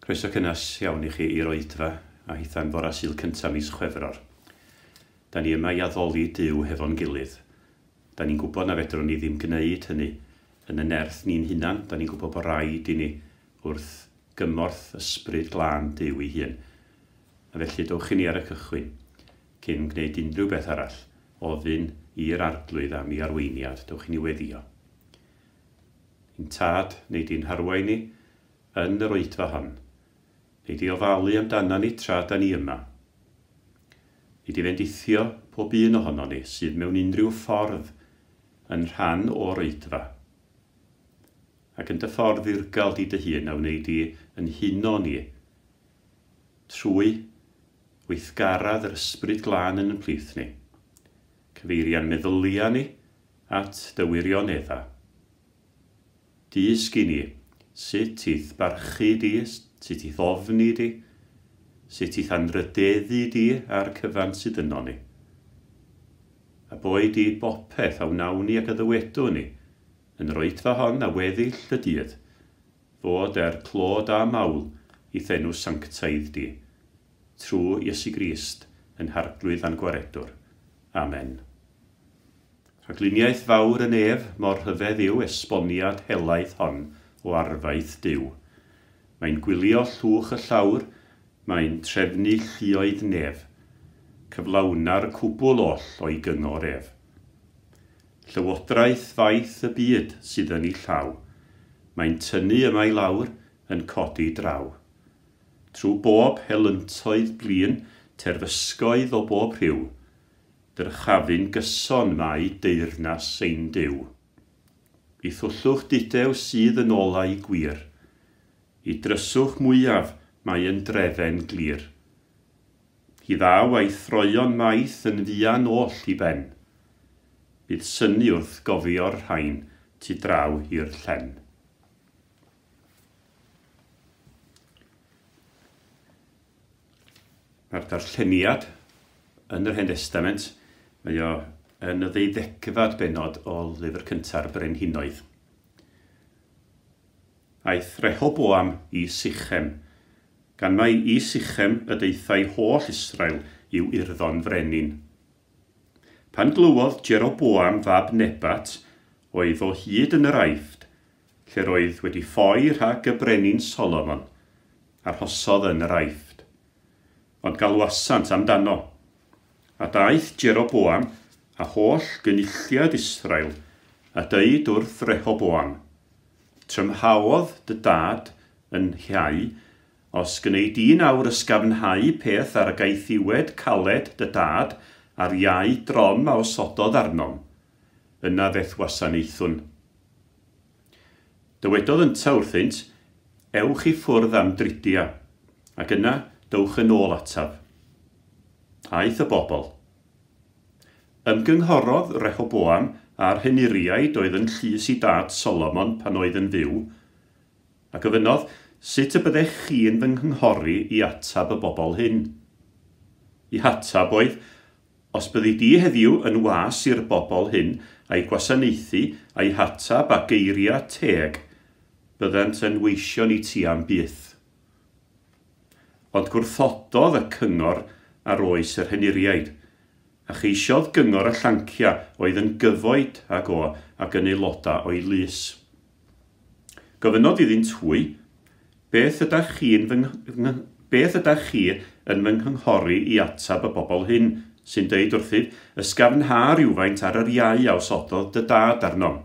Croeso cynnes iawn i chi i'r oedfa a hitha'n fora Sul cyntaf mis Chwefror. Da ni yma i addoli Duw hefo'n gilydd. Da ni'n gwybod na fedrwn ni ddim gwneud hynny yn y nerth ni'n hunan. Da ni'n gwybod bod rhaid i ni wrth gymorth ysbryd glân Duw ei hun. A felly dowch i ni ar y cychwyn, cyn gwneud unrhyw beth arall, ofyn i'r Arglwydd am ei arweiniad. Dowch i ni weddïo. Ein Tad, wnei di'n harwain ni yn yr oedfa hon. Wnei di ofalu amdana ni tra da ni yma. Wnei di fendithio pob un ohonon ni sydd mewn unrhyw ffordd yn rhan o'r oedfa. Ac yn dy ffordd ddirgel di dy hun a wnei di yn huno ni trwy weithgaredd yr Ysbryd Glân yn yn plith ni. Cyfeiria'n meddyliau ni at dy wirioneddau. Dysg i ni sut i'th barchu di, sut i'th ofni di, sut i'th anrhydeddu di a'r cyfan sydd yno ni. A boed i bopeth a wnawn ni ac a ddywedwn ni, yn yr oedfa hon a weddill y dydd, fod er clod a mawl i'th enw sanctaidd di, trwy Iesu Grist yn Harglwydd a'n Gwaredwr. Amen. Rhagluniaeth fawr y nef, mor rhyfedd yw esboniad helaeth hon o arfaeth Duw. Mae'n gwylio llwch y llawr, mae'n trefnu lluoedd nef. Cyflawna'r cwbl oll o'i gyngor ef. Llywodraeth faith y byd sydd yn ei llaw. Mae'n tynnu yma i lawr, yn codi draw. Trwy bob helyntoedd blin, terfysgoedd o bob rhyw, Dyrchafu'n gyson mae deyrnas ein Duw. I thwllwch dudew sydd yn olau gwir. I dryswch mwyaf mae yn drefen glir. Hi ddaw a'i throeon maith yn fuan oll i ben. Bydd synnu wrth gofio'r rhain tu draw i'r llen. Mae'r darlleniad yn yr Hen Destament, mae o yn y ddeuddegfed bennod o lyfr cynta'r Brenhinoedd. Aeth Rehoboam i Sichem, gan mai i Sichem y daethai holl Israel i'w urddo'n frenin. Pan glywodd Jeroboam fab Nebat, oedd o hyd yn yr Aifft, lle'r oedd wedi ffoi rhag y brenin Solomon, arhosodd yn yr Aifft. Ond galwasant amdano. A daeth Jeroboam a holl gynulliad Israel a dweud wrth Rehoboam, Trymhaodd dy dad yn nhiau, os gwnei di'n awr ysgafnhau peth ar gaethiwed caled dy dad a'r iau drom a osododd arnom, yna fe'th wasanaethwn. Dywedodd yntau wrthynt, Ewch i ffwrdd am dridia, ac yna dowch yn ôl ataf. Aeth y bobl. Ymgynghorodd Rehoboam â'r henuriaid oedd yn llys i dad Solomon pan oedd yn fyw, a gofynnodd, Sut y byddech chi'n fy nghynghori i ateb y bobl hyn? Eu hateb oedd, Os byddi di heddiw yn was i'r bobl hyn a'u gwasanaethu a'u hateb â geiriau teg, byddant yn weision i ti am byth. Ond gwrthododd y cyngor a roes yr henuriaid, a cheisiodd gyngor y llanciau oedd yn gyfoed ag o ac yn aelodau o'i lys. Gofynnodd iddynt hwy, Beth ydach chi'n fy Beth ydach chi yn fy nghynghori i ateb y bobl hyn, sy'n deud wrthyf, 'Ysgafnha rywfaint ar yr iau a osododd dy dad arnom'?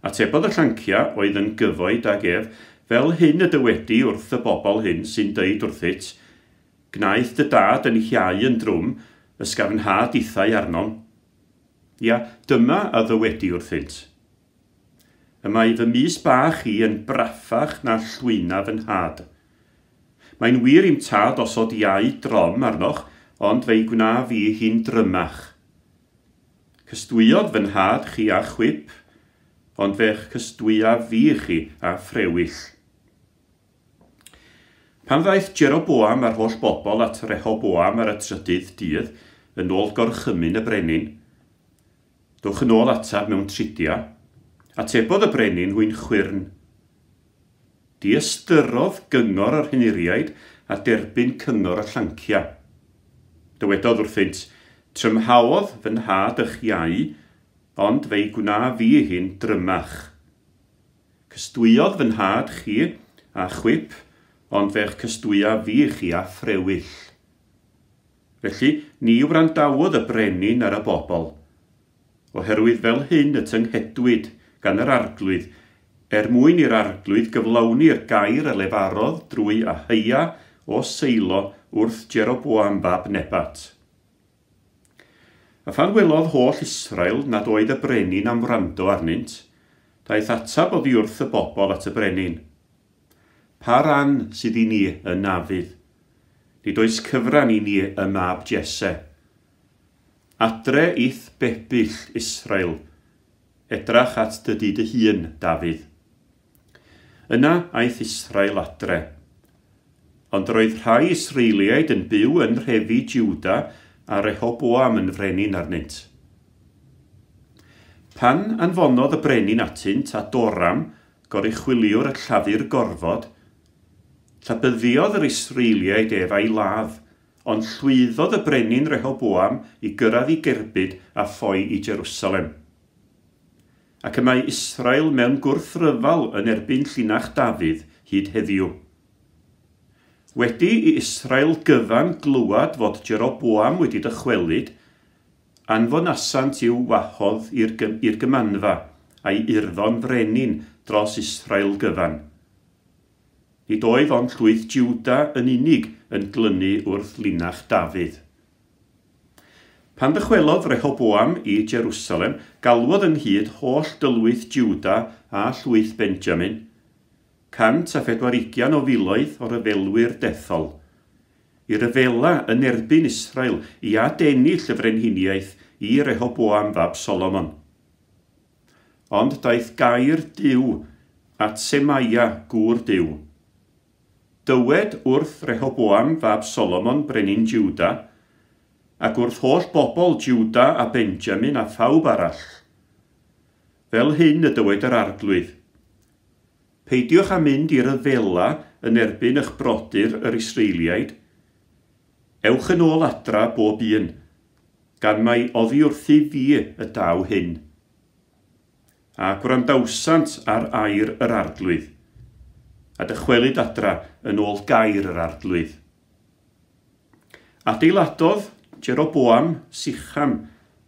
Atebodd y llanciau oedd yn gyfoed ag ef, Fel hyn y dywedi wrth y bobl hyn sy'n deud wrthyt, 'Gwnaeth dy dad yn iau yn drwm, ysgafnha dithau arnom'. Ia, dyma a ddywedi wrthynt. Y mae fy mys bach i yn braffach na llwyna fy nhad. Mae'n wir i'm tad osod iau drom arnoch, ond fe'i gwna fi hi'n drymach. Cystwyodd fy nhad chi â chwip, ond fe'ch cystwyaf fi chi â ffrewyll. Pan ddaeth Jeroboam a'r holl bobl at Rehoboam ar y trydydd dydd, yn ôl gorchymyn y brenin, Dowch yn ôl ataf mewn tridia. Atebodd y brenin hwy'n chwyrn. Diystyrodd gyngor yr henuriaid a derbyn cyngor y llanciau. Dywedodd wrthynt, Trymhaodd fy nhad eich iau, ond fe'i gwna fi hi'n drymach. Cystwyodd fy nhad chi â chwip, ond fe'ch cystwya fi chi â ffrewyll. Felly, ni wrandawodd y brenin ar y bobl, oherwydd fel hyn y tynghedwyd gan yr Arglwydd, er mwyn i'r Arglwydd gyflawni'r gair a lefarodd drwy Aheia o Seilo wrth Jeroboam fab Nebat. A phan welodd holl Israel nad oedd y brenin am wrando arnynt, daeth ateb oddi wrth y bobl at y brenin. Pa ran sydd i ni yn Nafydd? Nid oes cyfran i ni ym mab Jesse. Adre i'th bebyll, Israel, edrach at dy dŷ dy hun, Dafydd. Yna aeth Israel adre. Ond yr oedd rhai Israeliaid yn byw yn nhrefi Jiwda a Rehoboam yn frenin arnynt. Pan anfonodd y brenin atynt Adoram, goruchwyliwr y llafur gorfod, llabyddiodd yr Israeliaid ef a'i ladd, ond llwyddodd y brenin Rehoboam i gyrraedd i gerbyd a ffoi i Jerusalem. Ac y mae Israel mewn gwrthryfel yn erbyn llinach Dafydd hyd heddiw. Wedi i Israel gyfan glywed fod Jeroboam wedi dychwelyd, anfonasant i'w wahodd i'r gymanfa a'i urddo'n frenin dros Israel gyfan. Nid oedd ond llwyth Jiwda yn unig yn glynu wrth linach Dafydd. Pan ddychwelodd Rehoboam i Jerusalem, galwodd ynghyd holl dylwyth Jiwda a llwyth Benjamin, 140,000 o ryfelwyr dethol, i ryfela yn erbyn Israel i adennill y frenhiniaeth i Rehoboam fab Solomon. Ond daeth gair Duw at Semaia gŵr Duw. Dywed wrth Rehoboam fab Solomon brenin Jiwda, ac wrth holl bobl Jiwda a Benjamin a phawb arall. Fel hyn y dywed yr Arglwydd. Peidiwch â mynd i ryfela yn erbyn eich brodyr yr Israeliaid. Ewch yn ôl adra bob un, gan mai oddi wrthi fi y daw hyn. A gwrandawsant ar air yr Arglwydd, a dychwelyd adra yn ôl gair yr Arglwydd. Adeiladodd Jeroboam Sicham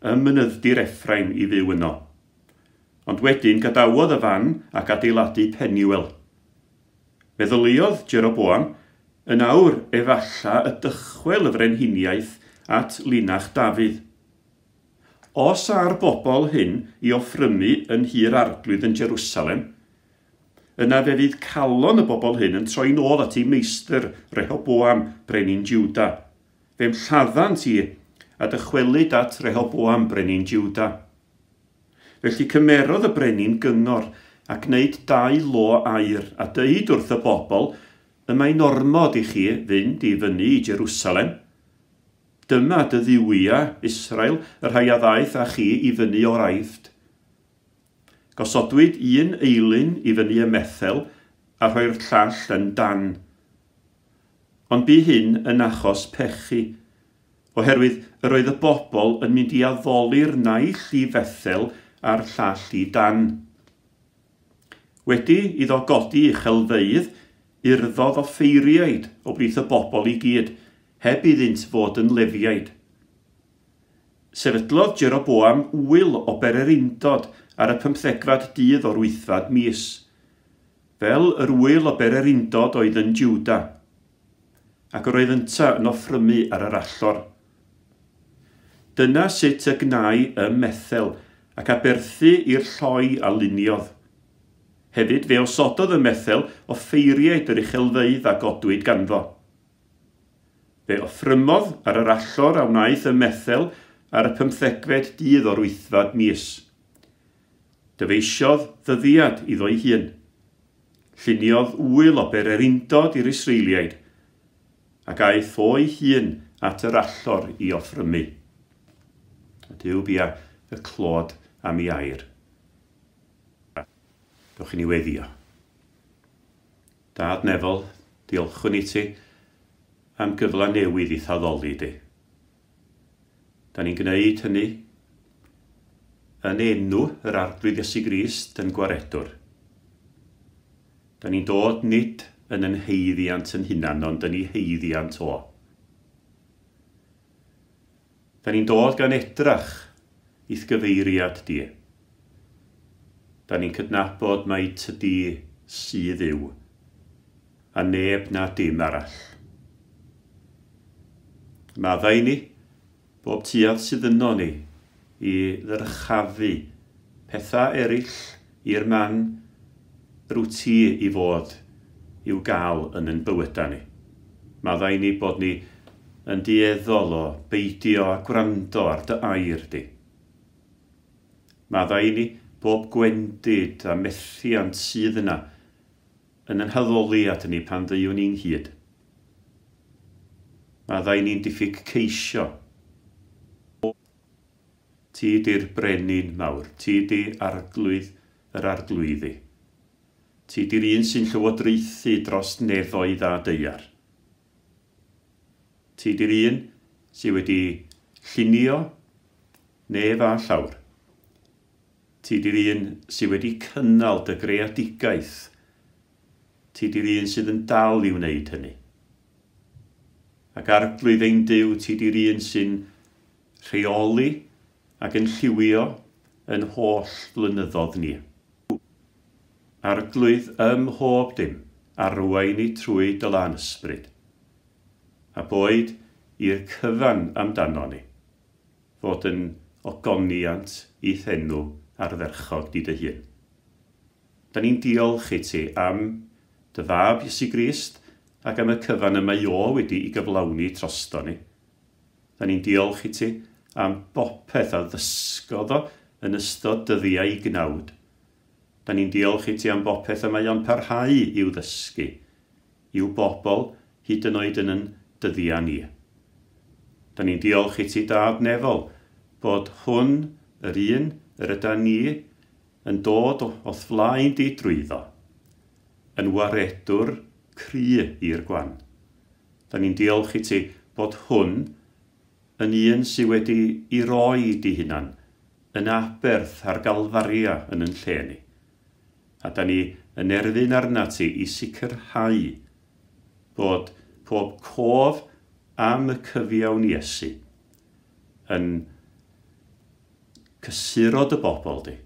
ym mynydd-dir Ephraim i fyw yno. Ond wedyn gadawodd y fan ac adeiladu Penuel. Meddyliodd Jeroboam, yn awr efalla y dychwel y frenhiniaeth at linach Dafydd. Os â'r bobl hyn i offrymu yn nhŷ'r Arglwydd yn Jerusalem, yna fe fydd calon y bobl hyn yn troi'n ôl at eu meistr Rehoboam, brenin Jiwda. Fe'm lladdant i, a dychwelyd at Rehoboam, brenin Jiwda. Felly cymerodd y brenin gyngor a gwneud dau lo aur, a dweud wrth y bobl, y mae'n ormod i chi fynd i fyny i Jerusalem. Dyma dy dduwiau, Israel, y rhai a ddaeth â chi i fyny o'r Aifft. Gosodwyd un eilun i fyny ym Methel a rhoi'r llall yn Dan. Ond bu hyn yn achos pechu, oherwydd yr oedd y bobl yn mynd i addoli'r naill i Fethel a'r llall i Dan. Wedi iddo godi uchelfeydd, urddodd offeiriaid o blith y bobl i gyd, heb iddynt fod yn Lefiaid. Sefydlodd Jeroboam ŵyl o bererindod ar y pymthegfad dydd o'r wythfad mis, fel yr ŵyl o bererindod oedd yn Jiwda, ac yr oedd ynta yn offrymu ar yr allor. Dyna sut y gnai ym Methel, ac aberthu i'r lloi a luniodd. Hefyd fe osododd ym Methel offeiriaid yr uchelfeydd a godwyd ganddo. Fe offrymodd ar yr allor a wnaeth ym Methel ar y pymthegfed dydd o'r wythfad mis. Dyfeisiodd ddyddiad iddo'i hun. Lluniodd ŵyl o bererindod i'r Israeliaid, ac aeth o'i hun at yr allor i offrymu. A Duw bia y clod am ei air. Dewch i ni weddio. Dad nefol, diolchwn i ti am gyfle newydd i'th addoli di. Da ni'n gwneud hynny yn enw yr Arglwydd Iesu Grist yn gwaredwr. Da ni'n dod nid yn yn haeddiant yn hunan, ond yn ei haeddiant o. Da ni'n dod gan edrach i'th gyfeiriad di. Da ni'n cydnabod mai tydi sydd yw, a neb na dim arall. Maddau ni, bob tuedd sydd yno ni, i ddyrchafu pethau eraill i'r man rwyt ti i fod i'w gael yn yn bywydau ni. Maddau ni bod ni yn dueddol o beidio a gwrando ar dy air di. Maddau ni bob gwendid a methiant sydd yna yn yn haddoliad ni pan ddeuwn ni'n hyd. Maddau ni'n diffyg ceisio. Ti di'r brenin mawr, ti di arglwydd yr arglwyddi. Ti di'r un sy'n llywodraethu dros nefoedd a daear. Ti di'r un sydd wedi llunio nef a llawr. Ti di'r un sydd wedi cynnal dy greadigaeth. Ti di'r un sydd yn dal i wneud hynny. Ac Arglwydd ein Duw, ti di'r un sy'n rheoli ac yn lliwio yn holl flynyddoedd ni. Arglwydd ym mhob dim, arwain ni trwy dy lân ysbryd. A boed i'r cyfan amdano ni, fod yn ogoniant i'th enw ardderchog di dy hun. Da ni'n diolch i ti am dy fab Iesu Grist ac am y cyfan y mae o wedi i gyflawni drosto ni. Da ni'n diolch i ti am bopeth a ddysgodd o yn ystod dyddiau gnawd. Da ni'n diolch i ti am bopeth y mae o'n parhau i'w ddysgu, i'w bobl hyd yn oed yn yn dyddiau ni. Da ni'n diolch i ti, Dad nefol, bod hwn, yr un, yr yda ni, yn dod o'th flaen di drwyddo, yn waredwr cry i'r gwan. Da ni'n diolch i ti bod hwn yn un sydd wedi i roi di hunan yn aberth ar Galfaria yn yn lle ni. A da ni yn erfyn arna ti i sicrhau bod pob cof am y cyfiawn Iesu yn cysuro dy bobl di,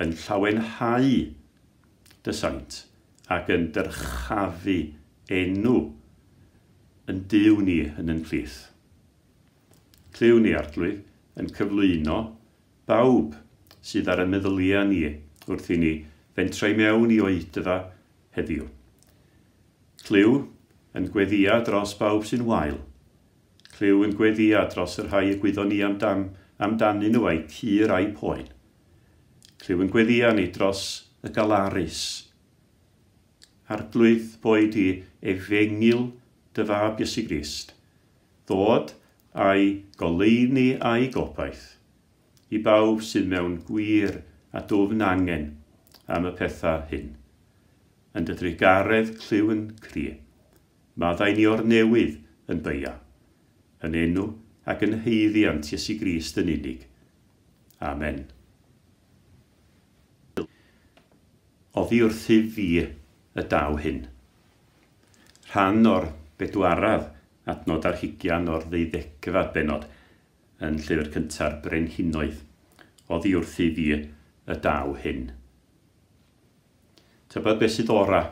yn llawenhau dy saint ac yn dyrchafu enw yn Duw ni yn yn plith. Clyw ni, Arglwydd, yn cyflwyno bawb sydd ar y meddyliau ni wrth i ni fentrau mewn i oedfa heddiw. Clyw yn gweddia dros bawb sy'n wael. Clyw yn gweddia dros y rhai y gwyddon ni amdanyn nhw a'i cur a'i poen. Clyw yn gweddia ni dros y galarus. Arglwydd, boed i efengyl dy fab Iesu Grist, ddod a'i goleuni a'i gobaith i bawb sydd mewn gwir a dwfn angen am y pethau hyn. Yn dy drugaredd clyw yn cri, maddau ni o'r newydd yn beia, yn enw ac yn haeddiant Iesu Grist yn unig. Amen. Oddi wrthyf fi y daw hyn. Rhan o'r bedwaredd adnod ar hugian o'r ddeuddegfed bennod yn llyfr cynta'r Brenhinoedd. Oddi wrthyf fi y daw hyn. Tybed beth sydd ora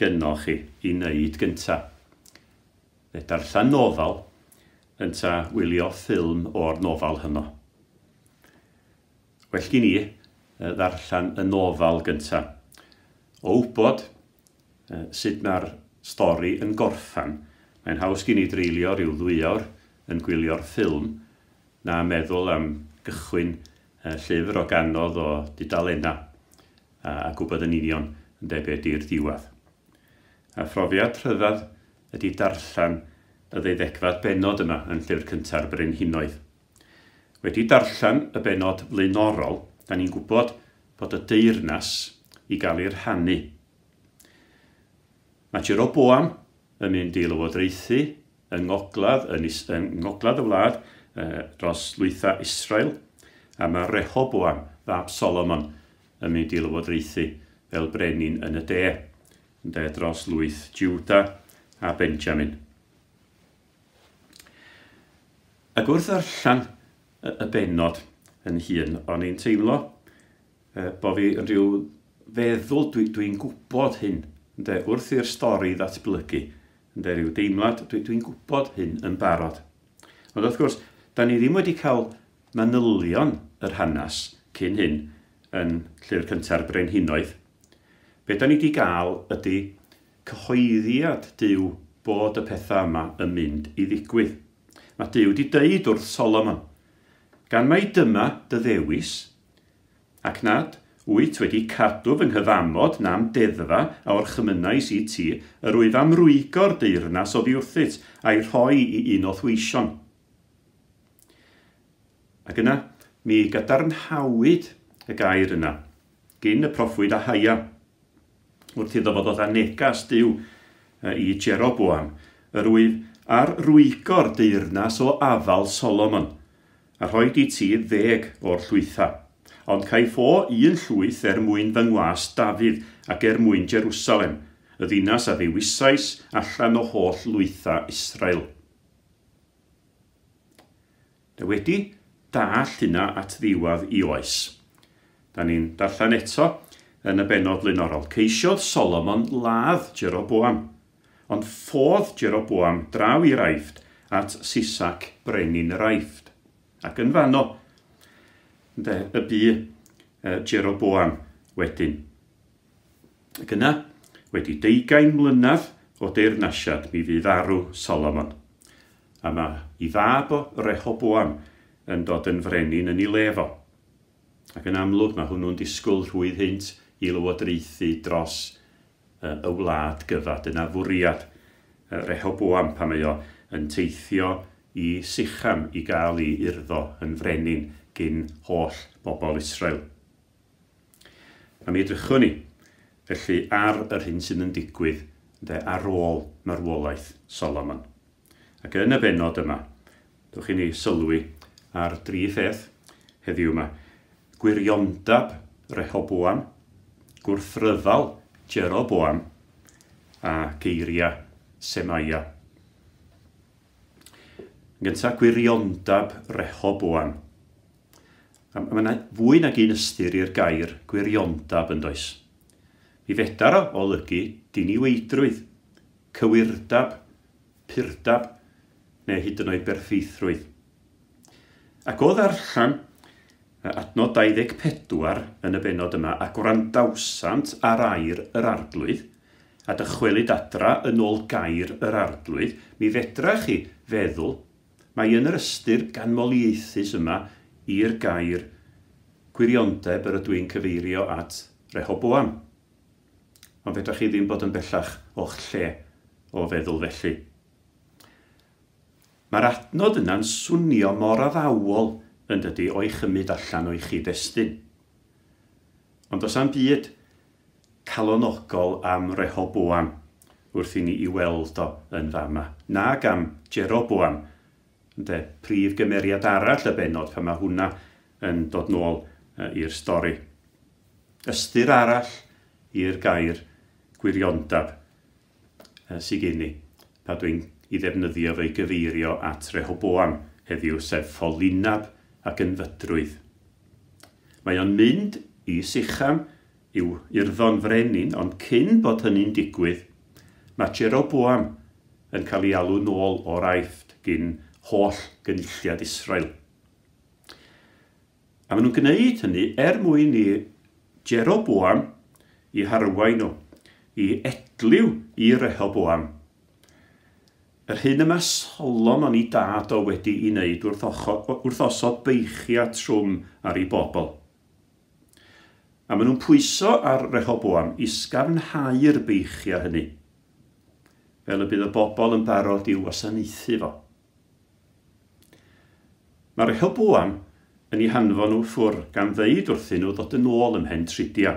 gynnoch chi i wneud gynta? Fe darllen nofel ynta wylio ffilm o'r nofel hynno. Well gen i ddarllen y nofel gynta. O wybod sut mae'r stori yn gorffan, mae'n haws gen i dreulio rhyw 2 awr yn gwylio'r ffilm na meddwl am gychwyn llyfr o ganodd o dudalennau a gwybod yn union yn debyg i'r diwedd. A phrofiad rhyfedd ydy darllen y ddeuddegfed bennod yma yn llyfr cynta'r Brenhinoedd. Wedi darllen y bennod flaenorol, da ni'n gwybod bod y deyrnas i gael ei rhannu. Mae Jeroboam yn mynd i lywodraethu yng ngogledd, yn, is, yng ngogledd y wlad dros lwytha Israel, a mae Rehoboam, fab Solomon, yn mynd i lywodraethu fel brenin yn y de, yn de dros lwyth Juda a Benjamin. Ac wrth ddarllen y bennod yn hun, o'n i'n teimlo bod fi yn rhyw feddwl dwi'n dwi gwybod hyn, ynde, wrth i'r stori ddatblygu, ynde, rhyw deimlad, dwi'n dwi gwybod hyn yn barod. Ond wrth gwrs, da ni ddim wedi cael manylion yr hanes cyn hyn yn Llyfr Cynta'r Brenhinoedd. Be da ni wedi gael ydy cyhoeddiad Duw bod y pethau yma yn mynd i ddigwydd. Mae Duw wedi deud wrth Solomon, gan mai dyma dy ddewis, ac nad wyt wedi cadw fy nghyfamod na'm deddfa a orchymynais i ti, yr wyf am rwygo'r deyrnas oddi wrthyt a'i rhoi i un o'th weision. Ac yna, mi gadarnhawyd y gair yna gyn y proffwyd Ahaia, wrth iddo fo ddod â negas Duw i Jeroboam, yr wyf ar rwygo'r deyrnas o afal Solomon, a rhoi i ti 10 o'r llwytha. Ond caiff o un llwyth er mwyn fy ngwas Dafydd ac er mwyn Jerusalem, y ddinas a ddewisais allan o holl lwytha Israel. Da wedi dallt hynna at ddiwedd i oes. Da ni'n darllen eto yn y bennod flaenorol. Ceisiodd Solomon ladd Jeroboam, ond ffodd Jeroboam draw i'r Aifft at Sisac brenin yr Aifft. Ac yn fanno, ynde, y bu Jeroboam wedyn. Ac yna, wedi 20 mlynedd o deyrnasiad, mi fydd farw Solomon. A mae ei fab o Rehoboam yn dod yn frenin yn ei le fo. Ac yn amlwg mae hwnnw'n disgwyl rhwydd hynt i lywodraethu dros y wlad gyfa. Dyna fwriad Rehoboam pan mae o yn teithio i Sicham i gael ei urddo yn frenin gyn holl bobl Israel. A mi edrychwn ni, felly, ar yr hyn sydd yn digwydd ynde, ar ôl marwolaeth Solomon. Ac yn y bennod yma, dwch i ni sylwi ar dri pheth heddiw yma. Gwiriondab Rehoboam, gwrthryfal Jeroboam a geiriau Semaia. Yn gyntaf, gwiriondab Rehoboam. A mae yna fwy nag un ystyr i'r gair gwiriondab yn does. Mi fedar o olygu diniweidrwydd, cywirdab, purdab, neu hyd yn oed berffeithrwydd. Ac o ddarllen adnod 24 yn y bennod yma, a gwrandawsant ar air yr arglwydd, a dychwelyd adra yn ôl gair yr arglwydd, mi fedrach chi feddwl mae yn yr ystyr ganmoliaethus yma i'r gair gwiriondeb yr ydw i'n cyfeirio at Rehoboam. Ond fedrach chi ddim bod yn bellach o'ch lle o feddwl felly. Mae'r adnod yna'n swnio mor addawol yn dydy o'i chymryd allan o'i chyd-destun. Ond does am byd calonogol am Rehoboam wrth i ni i weld o yn fama. Nag am Jeroboam, ynde, prif gymeriad arall y bennod pan mae hwnna yn dod nôl i'r stori. Ystyr arall i'r gair gwiriondab sydd gen i, pa dwi'n i ddefnyddio fe i gyfeirio at Rehoboam heddiw, sef ffolinab ac ynfydrwydd. Mae o'n mynd i Sicham i'w urddo'n frenin, ond cyn bod hynny'n digwydd, mae Jeroboam yn cael ei alw nôl o'r Aifft gyn holl gynulliad Israel. A maen nhw'n gwneud hynny er mwyn i Jeroboam i harwain nhw, i edliw i Rehoboam. Yr hyn yma Solomon i dad o wedi ei wneud wrth osod beichiau trwm ar ei bobl. A maen nhw'n pwyso ar Rehoboam i sgafnhau'r beichiau hynny, fel y bydd y bobl yn barod i'w wasanaethu fo. Mae Rehoboam yn ei hanfon nhw ffwr gan ddeud wrthyn nhw ddod yn ôl ymhen tridia.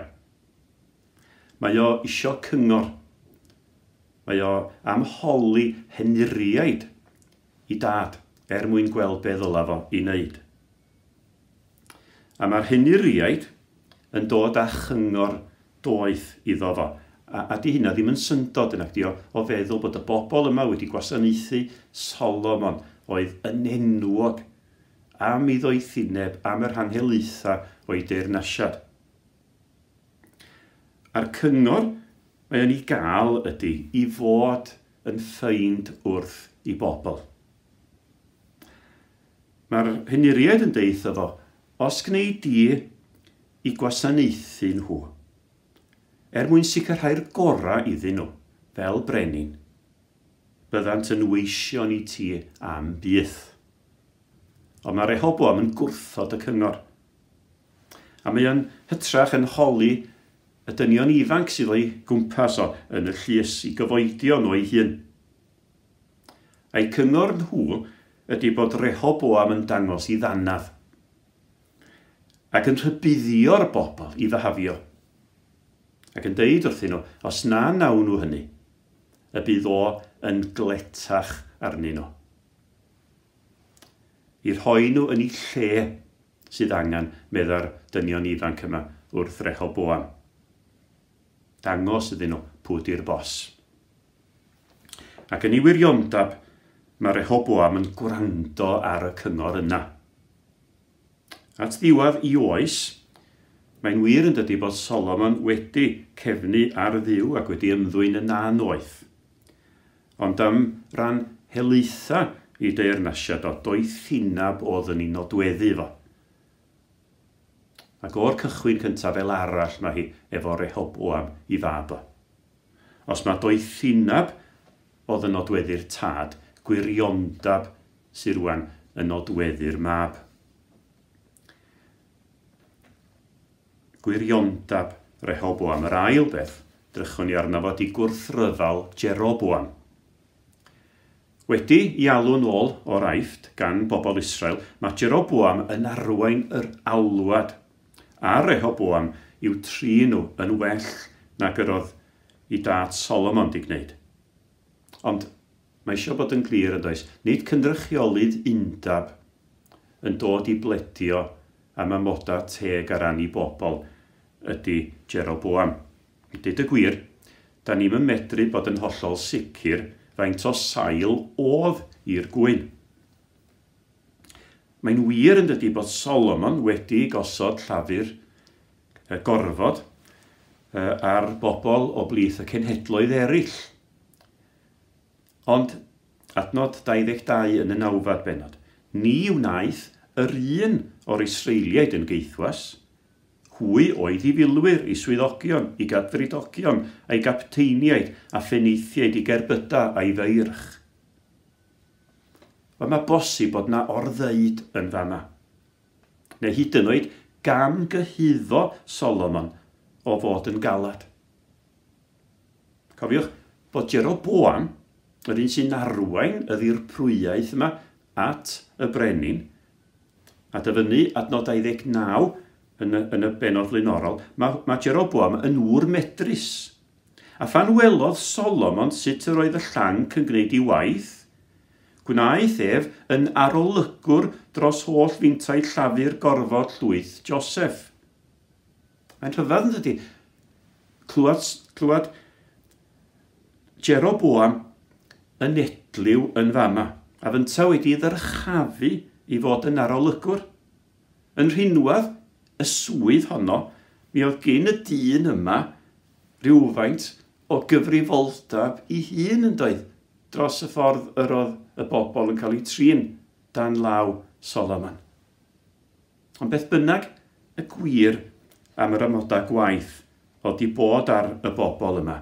Mae o isio cyngor. Mae o am holi henuriaid i dad er mwyn gweld be ddyla fo i wneud. A mae'r henuriaid yn dod â chyngor doeth iddo fo. A di hynna ddim yn syndod yn acdi o feddwl bod y bobl yma wedi gwasanaethu Solomon oedd yn enwog am ei ddoethineb, am yr hanhelaetha o'i deyrnasiad. A'r cyngor mae o'n ei gael ydy i fod yn ffeind wrth i bobl. Mae'r henuriaid yn deud fo, os gnei di i gwasanaethu nhw, er mwyn sicrhau'r gorau iddyn nhw, fel brenin, byddant yn weision i ti am byth. Ond mae Rehoboam yn gwrthod y cyngor. A mae o'n hytrach yn holi y dynion ifanc sydd o'i gwmpas o yn y llys i gyfoedion o'i hun. A'i cyngor nhw ydy bod Rehoboam yn dangos i ddanadd ac yn rhybuddio'r bobl i fyhafio. Ac yn deud wrthyn nhw, os na nawn nhw hynny, y bydd o yn gletach arnyn nhw. I rhoi nhw yn eu lle sydd angen, medda'r dynion ifanc yma wrth Rehoboam. Dangos iddyn nhw pwy di'r bos. Ac yn ei wiriondab, mae Rehoboam yn gwrando ar y cyngor yna. At ddiwedd i oes, mae'n wir yn dydy bod Solomon wedi cefnu ar Dduw ac wedi ymddwyn yn annoeth. Ond am ran helaetha i deyrnasiad o doethineb oedd yn ei nodweddu fo. Ac o'r cychwyn cyntaf fel arall mae hi efo Rehoboam i fab o. Os mae doethineb oedd yn nodweddu'r tad, gwiriondab sydd rwan yn nodweddu'r mab. Gwiriondab Rehoboam. Yr ail beth, drychwn ni arno fo, di gwrthryfel Jeroboam. Wedi i alw'n ôl o'r Aifft gan bobl Israel, mae Jeroboam yn arwain yr alwad a Rehoboam i'w trin nhw yn well nag yr oedd i dad Solomon di gwneud. Ond mae eisiau bod yn glir yn does, nid cynrychiolydd undab yn dod i bledio am amodau teg ar ran i bobl ydy Jeroboam. Dweud y gwir, da ni'm yn medru bod yn hollol sicr faint o sail oedd i'r gwyn. Mae'n wir yn dydy bod Solomon wedi gosod llafur gorfod ar bobl o blith y cenhedloedd eraill. Ond adnod 22 yn y nawfed bennod, ni wnaeth yr un o'r Israeliaid yn geithwas. Hwy oedd i filwyr, i swyddogion, i gadfridogion, a'i gapteiniaid a phenaethiaid i gerbydau a'i feirch. Wel, mae bosib bod na orddeud yn fama. Neu hyd yn oed gam gyhuddo Solomon o fod yn galad. Cofiwch bod Jeroboam, yr un sy'n arwain y ddirprwyaeth yma at y brenin, a dyfynnu adnod 29 yn y bennod flaenorol, mae Jeroboam yn ŵr medrus. A phan welodd Solomon sut yr oedd y llanc yn gwneud ei waith, gwnaeth ef yn arolygwr dros holl fintau llafur gorfod llwyth Joseph. Mae'n rhyfedd yn dydy. Clywed Jeroboam yn edliw yn fama, a fynta wedi ddyrchafu i fod yn arolygwr. Yn rhinwedd y swydd honno, mi oedd gen y dyn yma rhywfaint o gyfrifoldeb i hun yn doedd, dros y ffordd yr oedd y bobl yn cael eu trin dan law Solomon. Ond beth bynnag y gwir am yr amodau gwaith oedd di bod ar y bobl yma,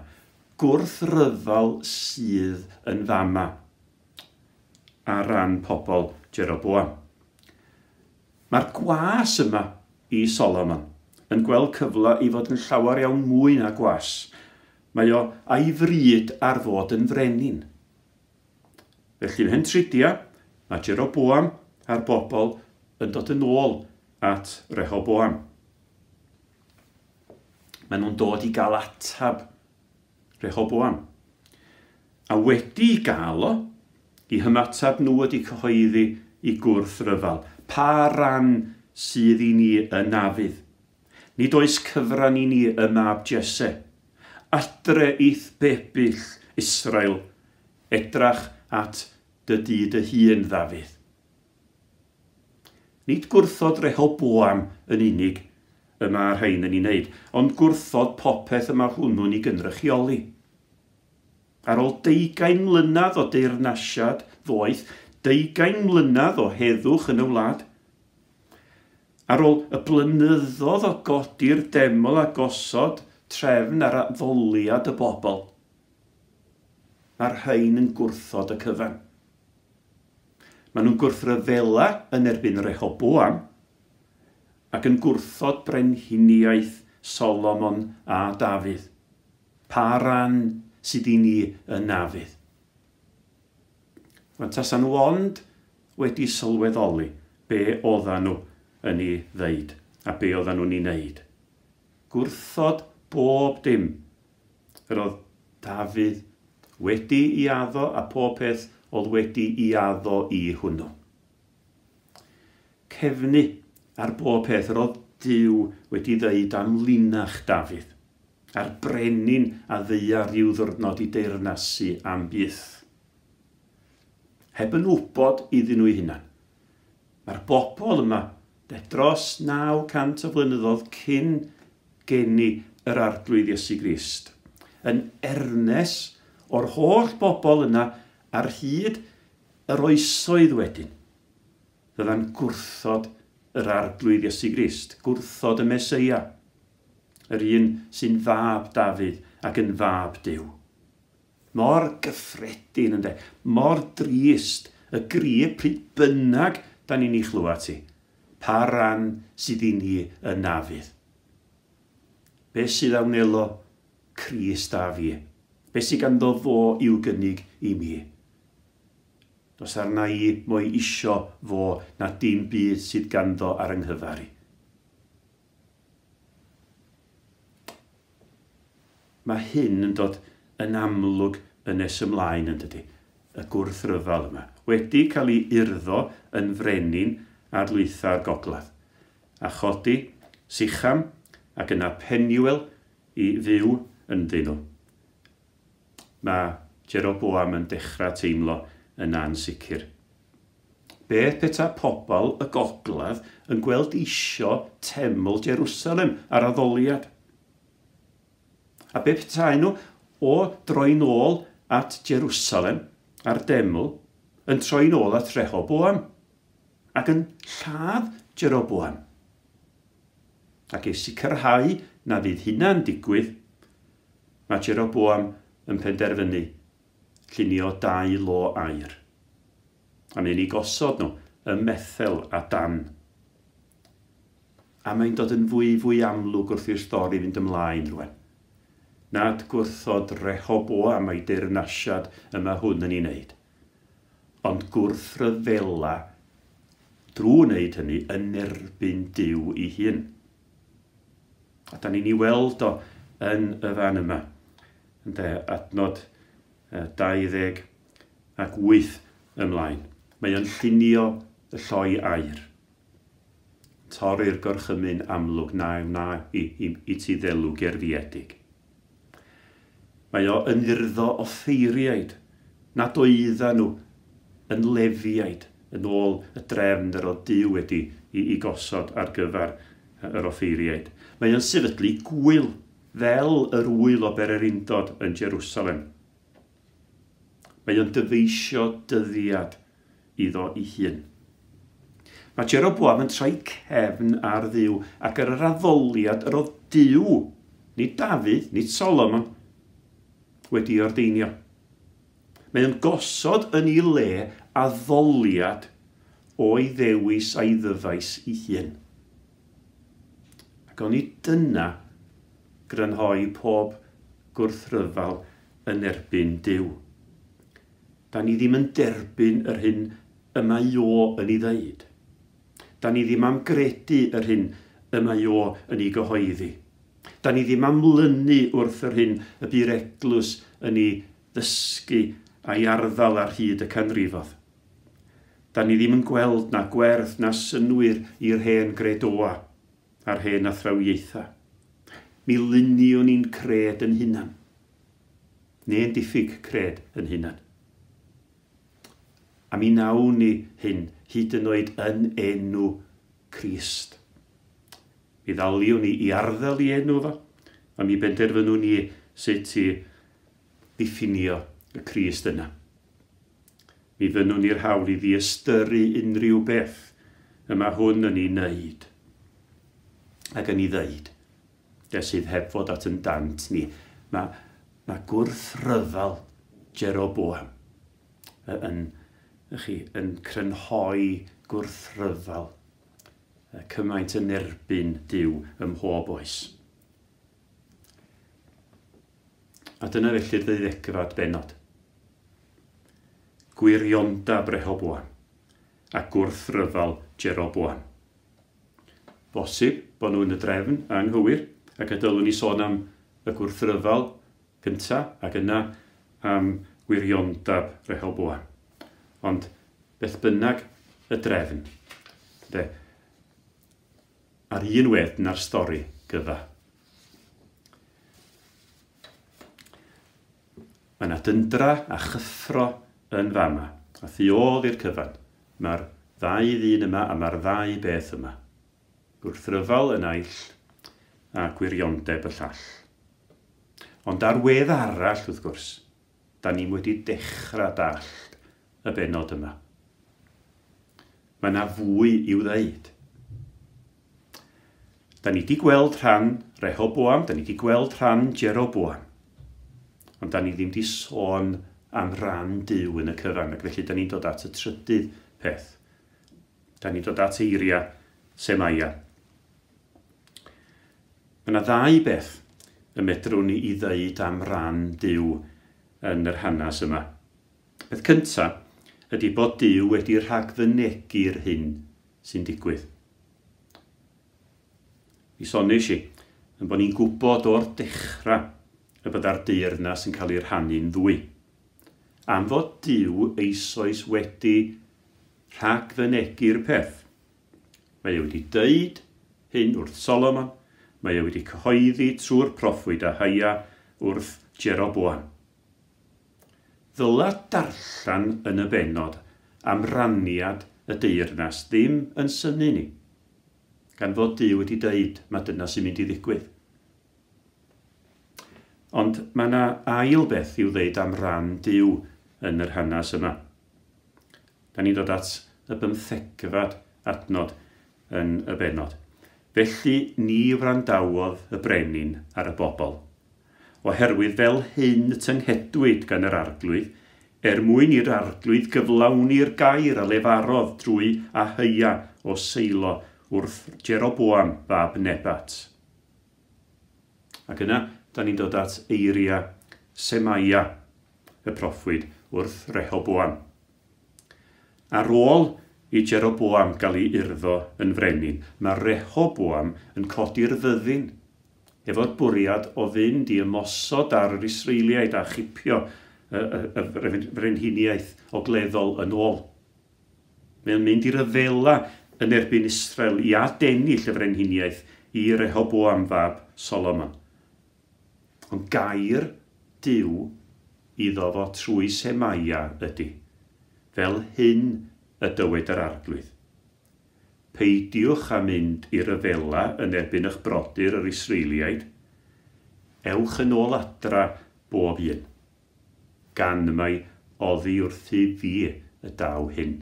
gwrthryfel sydd yn fama ar ran pobl Jeroboam. Mae'r gwas yma i Solomon yn gweld cyfle i fod yn llawer iawn mwy na gwas. Mae o a'i fryd ar fod yn frenin. Felly ymhen tridia, mae Jeroboam a'r bobl yn dod yn ôl at Rehoboam. Maen nhw'n dod i gael atab Rehoboam. A wedi gael o, i hymateb nhw wedi cyhoeddi i gwrthryfel. Pa ran sydd i ni yn Nafydd? Nid oes cyfran i ni y mab Jesse. Adre i'th bebyll Israel, edrach at dy dŷ dy hun, Ddafydd. Nid gwrthod Rehoboam yn unig y mae'r rhain yn ei wneud, ond gwrthod popeth y mae hwnnw'n ei gynrychioli. Ar ôl 20 mlynedd o deyrnasiad ddoeth, 20 mlynedd o heddwch yn y wlad, ar ôl y blynyddoedd o godi'r deml a gosod trefn ar addoliad y bobl, mae'r rhain yn gwrthod y cyfan. Maen nhw'n gwrthryfela yn erbyn Rehoboam ac yn gwrthod brenhiniaeth Solomon a Dafydd. Pa ran sydd i ni yn Nafydd? Wan tasa nhw ond wedi sylweddoli be oedden nhw yn ei ddeud a be oedden nhw'n ei wneud. Gwrthod bob dim. Yr oedd Dafydd wedi i addo a pob peth oedd wedi i addo i hwnnw. Cefnu ar bob peth yr oedd Duw wedi ddeud am linach Dafydd, a'r brenin a ddeia rhyw ddwrnod i deyrnasu am byth. Heb yn wybod iddyn nhw eu hunan. Mae'r bobl yma de dros 900 o flynyddoedd cyn geni yr Arglwydd Iesu Grist, yn ernes o'r holl bobl yna ar hyd yr oesoedd wedyn, fydda'n gwrthod yr Arglwydd Iesu Grist, gwrthod y Meseia, yr un sy'n fab Dafydd ac yn fab Duw. Mor gyffredin ynde, mor drist y gri pryd bynnag da ni'n ei chlywed ti. Pa ran sydd i ni yn Nafydd? Be sydd a wnelo Crist a fi? Be sydd ganddo fo i'w gynnig i mi? Does arna i mo'i isio fo na dim byd sydd ganddo ar yng nghyfer i. Mae hyn yn dod yn amlwg yn nes ymlaen yn dydy, y gwrthryfel yma, wedi cael ei urddo yn frenin ar lwytha'r gogledd, a chodi Sicham ac yna Penuel i fyw ynddyn nhw. Mae Jeroboam yn dechrau teimlo yn ansicr. Beth peta pobl y gogledd yn gweld isio teml Jerusalem ar addoliad? A be petai nhw o droi'n ôl at Jerusalem a'r deml yn troi'n ôl at Rehoboam ac yn lladd Jeroboam? Ac i sicrhau na fydd hynna'n digwydd, mae Jeroboam yn penderfynu llunio 2 lo aur. A mae'n ei gosod nhw ym Methel a Dan. A mae'n dod yn fwy fwy amlwg wrth i'r stori fynd ymlaen rwan. Nad gwrthod Rehoboam a'i deyrnasiad yma hwn yn ei wneud, ond gwrthryfela drwy wneud hynny yn erbyn Duw ei hun. A da ni'n ei weld o yn y fan yma. Ynde, adnod 28 ymlaen. Mae o'n llunio y lloi aur. Torri'r gorchymyn amlwg na wna i ti ddelw gerfiedig. Mae o yn urddo offeiriaid nad oedden nhw yn lefiaid yn ôl y drefn yr oedd Duw wedi i gosod ar gyfer yr offeiriaid. Mae o'n sefydlu gwyl fel yr wyl o bererindod yn Jerusalem. Mae o'n dyfeisio dyddiad iddo ei hun. Mae Jeroboam yn troi cefn ar Dduw ac ar yr addoliad yr oedd Duw, nid Dafydd, nid Solomon, wedi ordeinio. Mae o'n gosod yn ei le addoliad o'i ddewis a'i ddyfais ei hun. Ac oni dyna grynhoi pob gwrthryfel yn erbyn Duw. Da ni ddim yn derbyn yr hyn y mae o yn ei ddeud. Da ni ddim am gredu yr hyn y mae o yn ei gyhoeddi. Da ni ddim am lynu wrth yr hyn y bu'r eglwys yn ei ddysgu a'i arddel ar hyd y canrifodd. Da ni ddim yn gweld na gwerth na synnwyr i'r hen gredoa a'r hen athrawiaethau. Mi luniwn ni'n cred yn hunan, neu'n diffyg cred yn hunan. A mi nawn ni hyn hyd yn oed yn enw Crist. Mi ddaliwn ni i arddel i enw fo, a mi benderfynwn ni sut i ddiffinio y Crist yna. Mi fynnwn ni'r hawl i ddiystyru unrhyw beth y mae hwn yn ei wneud ac yn ei ddeud, de sydd heb fod at yn dant ni. Mae gwrthryfel Jeroboam yn crynhoi gwrthryfel cymaint yn erbyn Duw ym mhob oes. A dyna felly'r ddeuddegfed bennod. Gwiriondeb Rehoboam a gwrthryfel Jeroboam. Bosib bod nhw yn y drefn anghywir, ac y dylwn ni sôn am y gwrthryfel gyntaf ac yna am wiriondeb Rehoboam. Ond beth bynnag y drefn, de, ar un wedd na'r stori gyfa. Mae yna dyndra a chyffro yn fama, a thu ôl i'r cyfan. Mae'r ddau ddyn yma a mae'r ddau beth yma. Gwrthryfel y naill a gwiriondeb y llall. Ond ar wedd arall, wrth gwrs, da ni'n wedi dechrau dallt y bennod yma. Mae yna fwy i'w ddeud. Da ni wedi gweld rhan Rehoboam, da ni wedi gweld rhan Jeroboam. Ond da ni ddim wedi sôn am ran Duw yn y cyfan, ac felly da ni'n dod at y trydydd peth. Da ni'n dod at eiriau Semaia. Mae yna ddau beth y medrwn ni i ddeud am ran Duw yn yr hanes yma. Peth cyntaf ydy bod Duw wedi rhagfynegu'r hyn sy'n digwydd. Mi soniais i yn bod ni'n gwybod o'r dechrau y bydda'r deyrnas yn cael ei rhannu'n ddwy. Am fod Duw eisoes wedi rhagfynegu'r peth. Mae e wedi deud hyn wrth Solomon, mae e wedi cyhoeddi trwy'r proffwyd Ahaia wrth Jeroboam. Ddyla darllen yn y bennod am raniad y deyrnas ddim yn synnu ni, gan fod Duw wedi deud mae dyna sy'n mynd i ddigwydd. Ond mae yna ail beth i'w ddeud am ran Duw yn yr hanes yma. Da ni'n dod at y 15fed adnod yn y bennod. Felly ni wrandawodd y brenin ar y bobl, oherwydd fel hyn tynghedwyd gan yr arglwydd, er mwyn i'r arglwydd gyflawni'r gair a lefarodd drwy Ahaia o Seilo wrth Jeroboam fab Nebat. Ac yna, da ni'n dod at eiriau Semaia, y proffwyd, wrth Rehoboam. Ar ôl i Jeroboam gael ei urddo yn frenin, mae Rehoboam yn codi'r fyddin, efo'r bwriad o fynd i ymosod ar yr Israeliaid a chipio y frenhiniaeth ogleddol yn ôl. Mae'n mynd i ryfela yn erbyn Israel i adennill y frenhiniaeth i Rehoboam fab Solomon. Ond gair Duw iddo fo trwy Semaia ydy, fel hyn y dywed yr arglwydd. Peidiwch â mynd i ryfela yn erbyn eich brodyr yr Israeliaid. Ewch yn ôl adra bob un, gan mai oddi wrthy fi y daw hyn.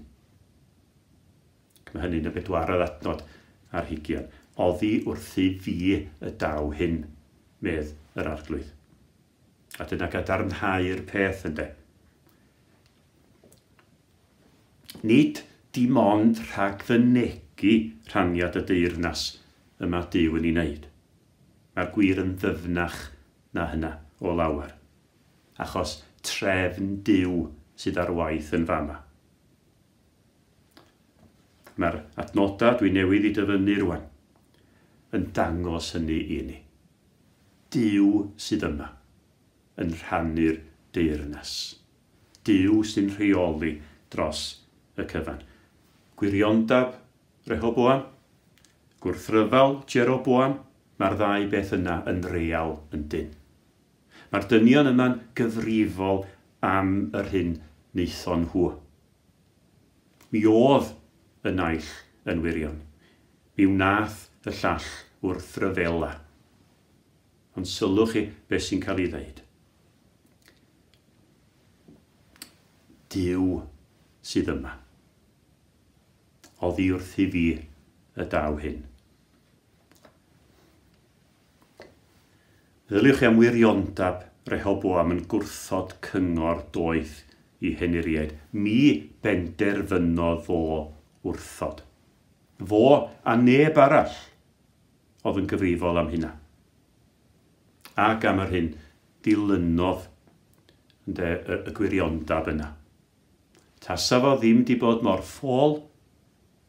Mae hynny'n y bedwaredd adnod ar hugian. Oddi wrthy fi y daw hyn, medd yr arglwydd. A dyna gadarnhau'r peth ynde. Nid dim ond rhagfynegi rhaniad y deyrnas y mae Duw yn ei wneud. Mae'r gwir yn ddyfnach na hynna o lawer, achos trefn Duw sydd ar waith yn fama. Mae'r adnodau dwi newydd i dyfynnu rwan yn dangos hynny i ni. Duw sydd yma yn rhannu'r deyrnas. Duw sy'n rheoli dros y cyfan. Gwiriondab Rehoboam, gwrthryfel Jeroboam, mae'r ddau beth yna yn real yn dyn. Mae'r dynion yma'n gyfrifol am yr hyn wnaethon nhw. Mi oedd y naill yn wirion. Mi wnaeth y llall wrthryfela. Ond sylwch chi beth sy'n cael ei ddeud. Duw sydd yma. Oddi wrthi fi y daw hyn. Meddyliwch chi am wiriondab Rehoboam yn gwrthod cyngor doeth i henuriaid. Mi benderfynodd fo wrthod. Fo a neb arall oedd yn gyfrifol am hynna. Ac am yr hyn dilynodd ynde, y gwiriondab yna. Tasa fo ddim di bod mor ffôl,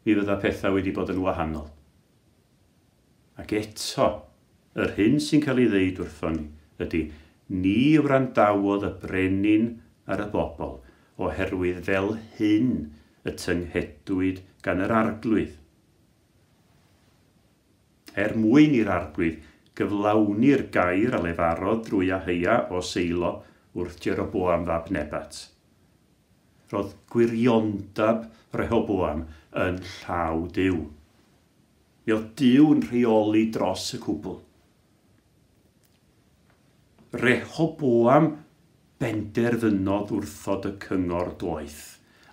mi fydda pethau wedi bod yn wahanol. Ac eto, yr hyn sy'n cael ei ddeud wrthon ni ydy, ni wrandawodd y brenin ar y bobl, oherwydd fel hyn y tynghedwyd gan yr arglwydd. Er mwyn i'r arglwydd gyflawni'r gair a lefarodd drwy Aheia o Seilo wrth Jeroboam fab Nebat. Roedd gwiriondab Rehoboam yn llaw Duw. Mi oedd Duw yn rheoli dros y cwbl. Rehoboam benderfynodd wrthod y cyngor doeth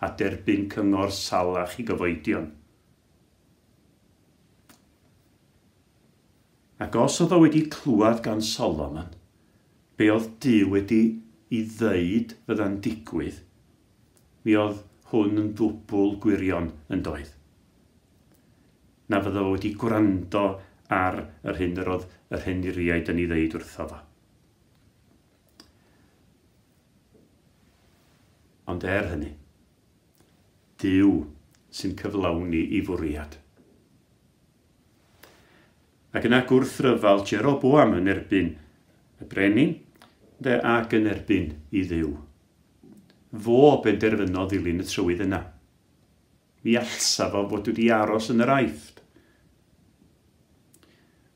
a derbyn cyngor salach i gyfoedion. Ac os oedd o wedi clywed gan Solomon, be oedd Duw wedi i ddeud fydda'n digwydd, mi oedd hwn yn ddwbl gwirion yn doedd. Na fydda fo wedi gwrando ar yr hyn yr oedd yr henuriaid yn ei ddeud wrtho fo. Ond er hynny, Duw sy'n cyflawni i fwriad. Ac yna gwrthryfel Jeroboam yn erbyn y brenin, de, ac yn erbyn i Dduw. Fo benderfynodd ddilyn y trywydd yna. Mi allsa fo fod wedi aros yn yr Aifft.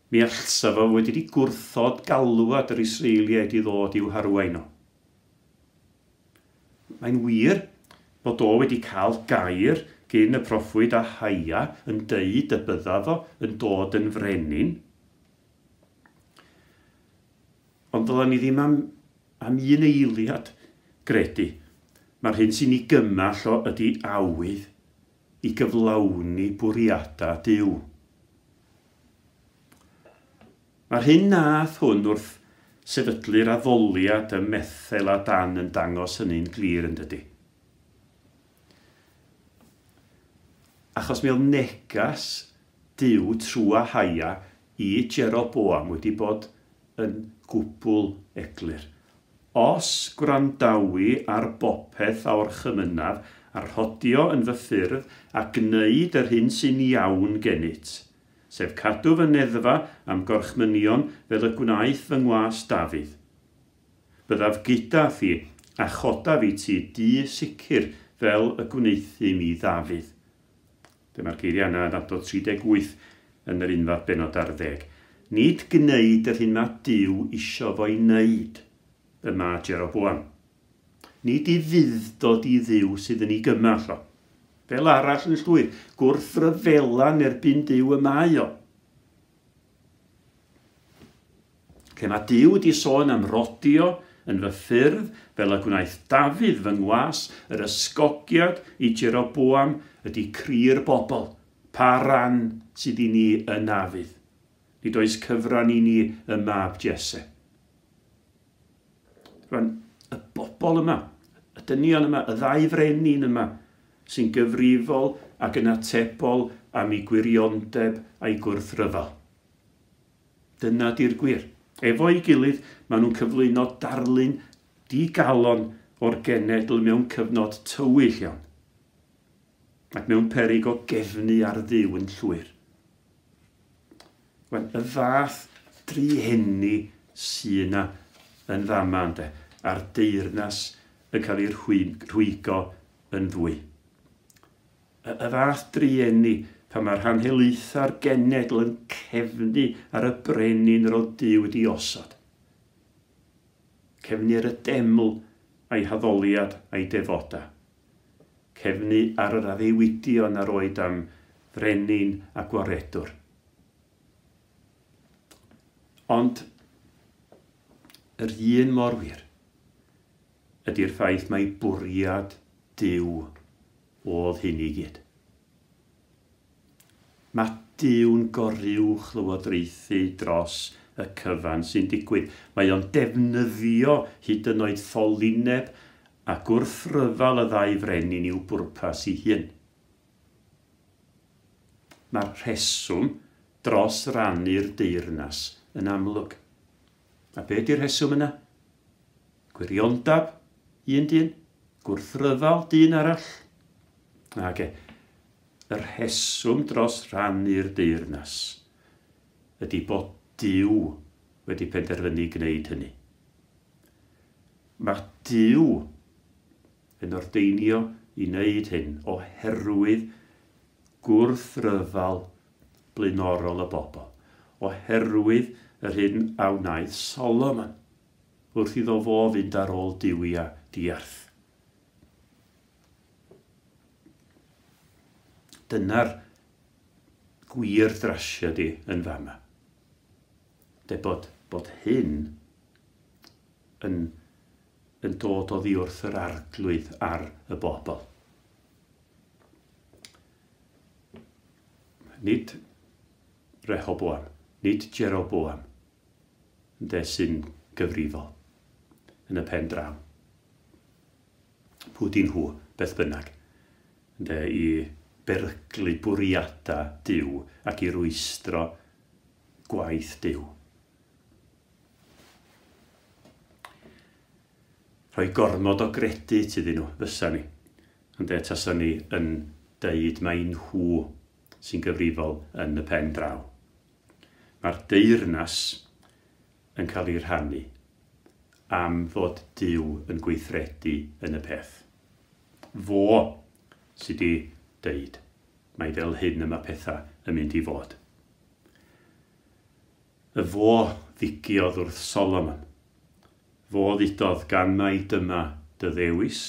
Mi allsa fo wedi di gwrthod galwad yr Israeliaid i ddod i'w harwain o. Mae'n wir bod o wedi cael gair gyn y proffwyd Ahaia yn deud y bydda fo yn dod yn frenin. Ond ddylen ni ddim am un eiliad gredu. Mae'r hyn sy'n ei gymell o ydy awydd i gyflawni bwriadau Duw. Mae'r hyn nath hwn wrth sefydlu'r addoliad ym Methel a Dan yn dangos hynny'n glir yn dydy. Achos mi oedd negas Duw trwy Ahaia i Jeroboam wedi bod yn gwbl eglur. Os gwrandawi ar bopeth a orchymynaf a rhodio yn fy ffyrdd a gwneud yr hyn sy'n iawn gennyt, sef cadw fy neddfa am gorchmynion fel y gwnaeth fy ngwas Dafydd. Byddaf gyda thi a chodaf i ti dŷ sicr fel y gwneuthum i Ddafydd. Dyma'r geiriau yna yn adnod 38 yn yr unfed bennod ar ddeg. Nid gwneud yr hyn mae Duw isio fo'i wneud y mae Jeroboam. Nid i fudd-dod i Dduw sydd yn ei gymell o. Fel arall yn llwyr, gwrthryfela yn erbyn Duw y mae o. Lle mae Duw wedi sôn am rodio yn fy ffyrdd, fel y gwnaeth Dafydd fy ngwas, yr ysgogiad i Jeroboam ydy cri'r bobl, pa ran sydd i ni yn Dafydd. Nid oes cyfran i ni y mab Jesse. Rwan, y bobl yma, y dynion yma, y ddau frenin yma, sy'n gyfrifol ac yn atebol am ei gwiriondeb a'i gwrthryfel. Dyna di'r gwir. Efo'i gilydd, maen nhw'n cyflwyno darlun digalon o'r genedl mewn cyfnod tywyll iawn, ac mewn peryg o gefnu ar Dduw yn llwyr. Wel, y fath drueni sy'n yna yn fama, ynde. A'r deyrnas yn cael ei rhwygo yn ddwy. Y fath drueni pan mae'r rhan helaetha'r genedl yn cefnu ar y brenin yr oedd Duw wedi osod. Cefnu ar y deml a'i haddoliad a'i defoda. Cefnu ar yr addewidion a roed am frenin a gwaredwr. Ond yr un mor wir ydy'r ffaith mai bwriad Duw oedd hyn i gyd. Mae Duw'n goruwch lywodraethu dros y cyfan sy'n digwydd. Mae o'n defnyddio hyd yn oed ffolineb a gwrthryfel y ddau frenin i'w bwrpas ei hun. Mae'r rheswm dros rannu'r deyrnas yn amlwg. A be di'r rheswm yna? Gwiriondab un dyn, gwrthryfel dyn arall. Nage, y rheswm dros rannu'r deyrnas ydy bod Duw wedi penderfynu gwneud hynny. Mae Duw yn ordeinio i wneud hyn oherwydd gwrthryfel blaenorol y bobl, oherwydd yr hyn a wnaeth Solomon wrth iddo fo fynd ar ôl duwiau diarth. Dyna'r gwir drasiedi yn fama. De bod hyn yn dod oddi wrth yr Arglwydd ar y bobl. Nid Rehoboam, nid Jeroboam, ynde, sy'n gyfrifol yn y pen draw. Pwy dyn nhw, beth bynnag, ynde, i beryglu bwriadau Duw ac i rwystro gwaith Duw. Rhoi gormod o gredit iddyn nhw, fysa ni. Ynde, tasa ni yn deud mai nhw sy'n gyfrifol yn y pen draw. Mae'r deyrnas yn cael ei rhannu am fod Duw yn gweithredu yn y peth. Fo sydd wedi deud mai fel hyn y mae pethau yn mynd i fod. Y fo ddigiodd wrth Solomon. Fo ddudodd gan mai dyma dy ddewis,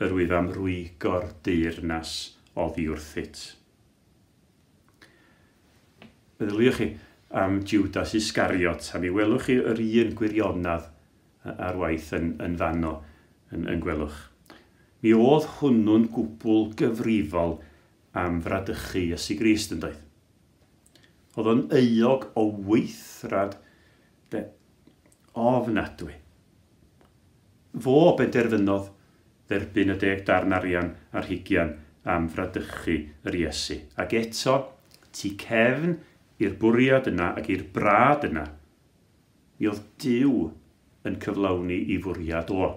yr wyf am rwygo'r deyrnas oddi wrthyt. Meddyliwch chi am Judas Iscariot, a mi welwch chi yr un gwirionedd ar waith yn fanno yn gwelwch. Mi oedd hwnnw'n gwbl gyfrifol am fradychu Iesu Grist, yn doedd. Oedd o'n euog o weithrad ofnadwy. Fo benderfynodd dderbyn y 10 darn arian a'r 20 am fradychu yr Iesu. Ac eto, tu cefn i'r bwriad yna ac i'r brad yna, mi oedd Duw yn cyflawni i fwriad o.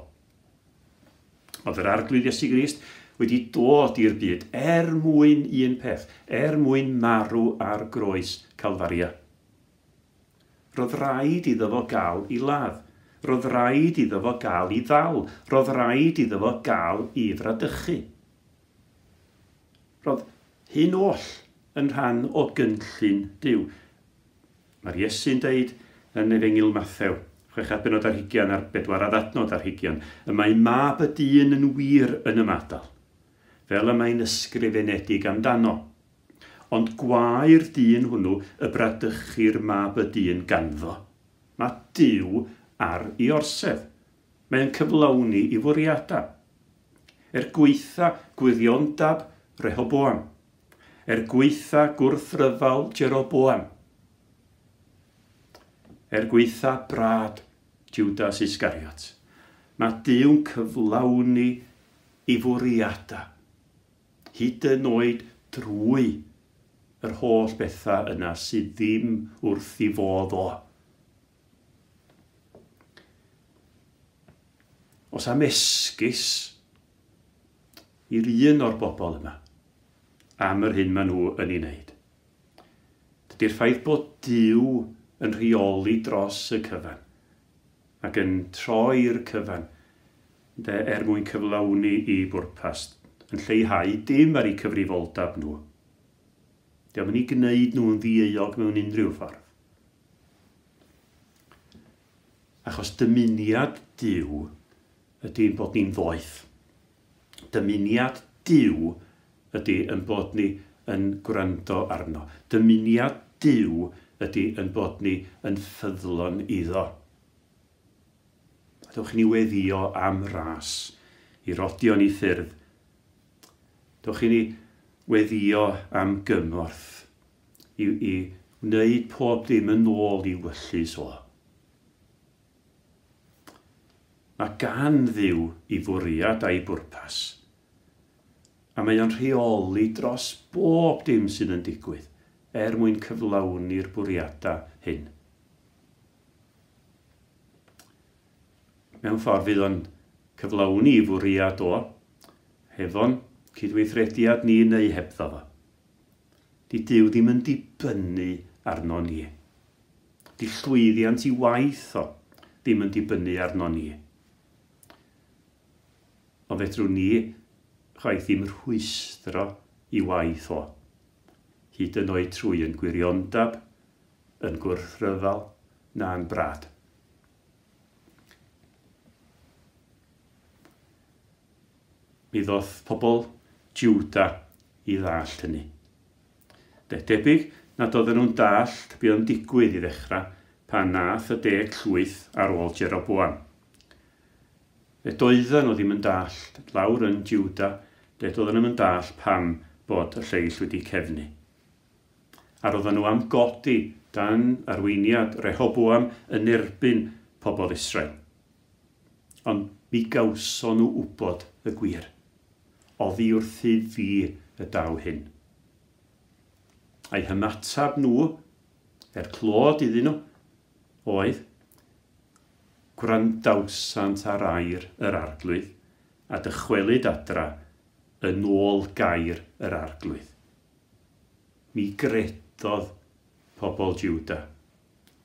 Oedd yr Arglwydd Iesu Grist wedi dod i'r byd er mwyn un peth, er mwyn marw ar groes Calfaria. Roedd rhaid iddo fo gael ei ladd. Roedd rhaid iddo fo gael ei ddal. Roedd rhaid iddo fo gael ei fradychu. Roedd hyn oll yn rhan o gynllun Duw. Mae'r Iesu'n deud yn Efengyl Mathew, 6 bennod ar 20 a'r 4 adnod ar 20, y mae mab y dyn yn wir yn ymadael, fel y mae'n ysgrifenedig amdano. Ond gwae'r dyn hwnnw y bradychu'r mab y dyn ganddo. Mae Duw ar ei orsedd. Mae'n cyflawni i fwriadau. Er gweitha gwiriondab Rehoboam. Er gweitha gwrthryfel Jeroboam. Er gweitha brad Judas Iscariot. Mae Duw'n cyflawni i fwriadau. Hyd yn oed drwy yr holl bethau yna sydd ddim wrth i fodd o. Os am esgus i'r un o'r bobl yma am yr hyn maen nhw yn ei wneud. Dydy'r ffaith bod Duw yn rheoli dros y cyfan ac yn troi'r cyfan de, er mwyn cyflawni i bwrpas, yn lleihau dim ar eu cyfrifoldeb nhw. Dio'm yn eu gwneud nhw'n ddieuog mewn unrhyw ffordd. Achos dymuniad Duw ydy ein bod ni'n ddoeth. Dymuniad Duw ydy ein bod ni yn gwrando arno. Dymuniad Duw ydy ein bod ni yn ffyddlon iddo. A dewch i ni weddïo am ras i rodio ni ffyrdd. Dewch i ni weddïo am gymorth i, i wneud pob dim yn ôl i wyllys o. Mae gan Dduw i fwriad a'i bwrpas, a mae o'n rheoli dros bob dim sydd yn digwydd er mwyn cyflawni'r bwriadau hyn. Mewn ffordd fydd o'n cyflawni i fwriad o, hefo'n cydweithrediad ni neu hebddo fo. Di Duw ddim yn dibynnu arno ni. Di llwyddiant i waith o ddim yn dibynnu arno ni. Ond fedrwn ni chwaith ddim rhwystro i waith o, hyd yn oed trwy yn gwiriondeb, yn gwrthryfel, na'n brad. Mi ddoth pobl Juda i ddallt hynny. De, debyg nad oedden nhw'n dallt be oedd yn digwydd i ddechrau pan nath y deg llwyth ar ôl Jeroboam. Fe doedden nhw ddim yn dallt, lawr yn Juda, de doedden nhw'm yn dallt pam bod y lleill wedi cefnu. A roedden nhw am godi dan arweiniad Rehoboam yn erbyn pobl Israel. Ond mi gawson nhw wybod y gwir. Oddi wrthyf fi y daw hyn. A'u hymateb nhw, er clod iddyn nhw, oedd, Gwrandawsant ar air yr Arglwydd, a dychwelyd adra yn ôl gair yr Arglwydd. Mi gredodd pobl Juda,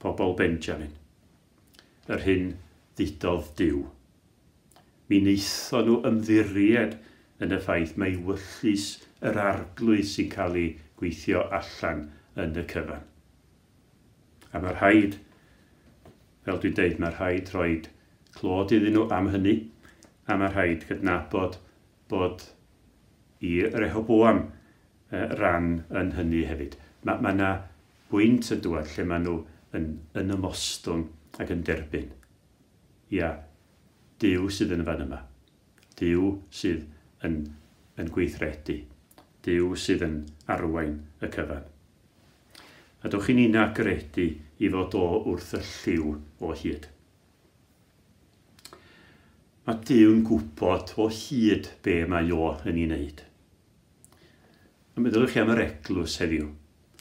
pobl Benjamin, yr hyn ddudodd Duw. Mi wnaethon nhw ymddiried yn y ffaith mai wyllys yr Arglwydd sy'n cael ei gweithio allan yn y cyfan. A mae rhaid, fel dwi'n deud, mae rhaid rhoi clod iddyn nhw am hynny, a mae rhaid cydnabod bod i Rehoboam ran yn hynny hefyd. Mae ma 'na bwynt yn dŵad lle maen nhw yn, yn ymostwng ac yn derbyn. Ia, Duw sydd yn y fan yma. Duw sydd yn, yn gweithredu. Duw sydd yn arwain y cyfan. A dewch i ni'na gredu i fod o wrth y llyw o hyd. Mae Duw'n gwybod o hyd be mae o yn ei wneud. A meddyliwch chi am yr eglwys heddiw,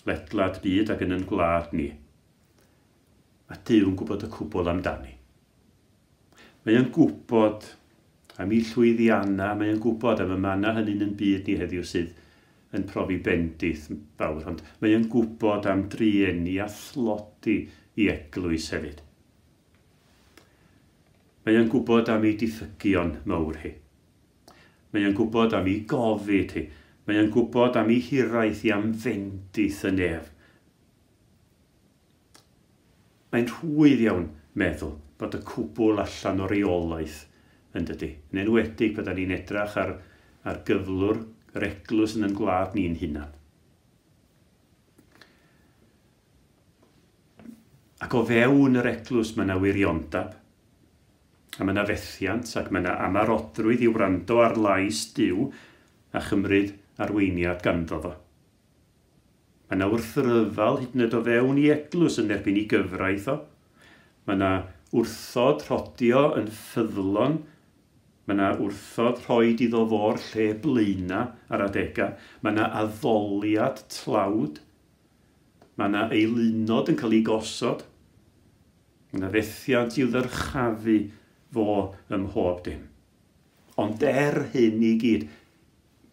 ledled byd ac yn yn gwlad ni. Mae Duw'n gwybod y cwbl amdani. Mae o'n gwybod am ei llwyddiannau, mae o'n gwybod am y mannau hynny'n yn byd ni heddiw sydd yn profi bendith fawr, ond mae o'n gwybod am drueni a thlodi i eglwys hefyd. Mae o'n gwybod am ei diffygion mawr hi. Mae o'n gwybod am ei gofid hi. Mae o'n gwybod am ei hiraeth hi am fendith y nef. Mae'n rhwydd iawn meddwl bod y cwbl allan o reolaeth, yn dydy? Yn enwedig pan 'da ni'n edrach ar, ar gyflwr yr eglwys yn yn gwlad ni'n hunan. Ac o fewn yr eglwys mae yna wiriondeb, a mae yna fethiant, ac mae yna amarodrwydd i wrando ar lais Duw a chymryd arweiniad ganddo fo. Mae yna wrthryfel hyd yn oed o fewn i eglwys yn erbyn i gyfraith o. Mae yna wrthod rhodio yn ffyddlon. Mae yna wrthod rhoid iddo fo'r lle blaena ar adegau. Mae yna addoliad tlawd. Mae yna eilunod yn cael ei gosod. Mae yna fethiant i'w ddyrchafu fo ym mhob dim. Ond er hyn i gyd,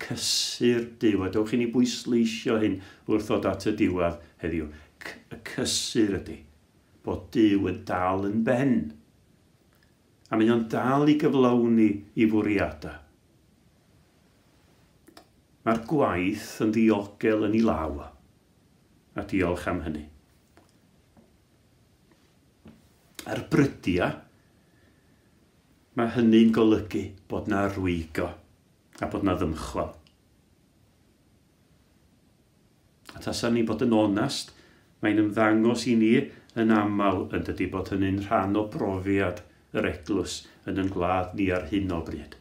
cysur Duw, a dewch i ni bwysleisio hyn wrth ddod at y diwedd heddiw, y cysur ydy bod Duw yn dal yn ben. A mae o'n dal i gyflawni i fwriadau. Mae'r gwaith yn ddiogel yn ei law, a diolch am hynny. Ar brydiau, mae hynny'n golygu bod na rwygo a bod na ddymchwel. A tasa ni'n bod yn onast, mae'n ymddangos i ni yn aml yn dydy bod hynny'n rhan o brofiad yr eglwys yn yn gwlad ni ar hyn o bryd.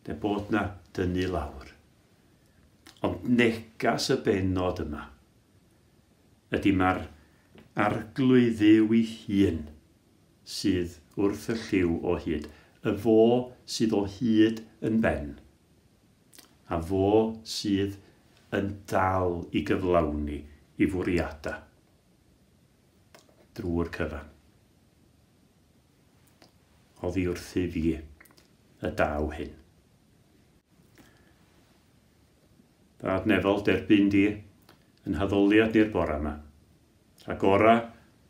De bod na dynnu lawr. Ond negas y bennod yma ydy mae'r Arglwydd Dduw ei hun sydd wrth y llyw o hyd. Y fo sydd o hyd yn ben. A fo sydd yn dal i gyflawni i fwriadau drwy'r cyfan. Oddi wrthy fi y daw hyn. Dad nefol, derbyn di yn haddoliad ni'r bore yma. Rhagora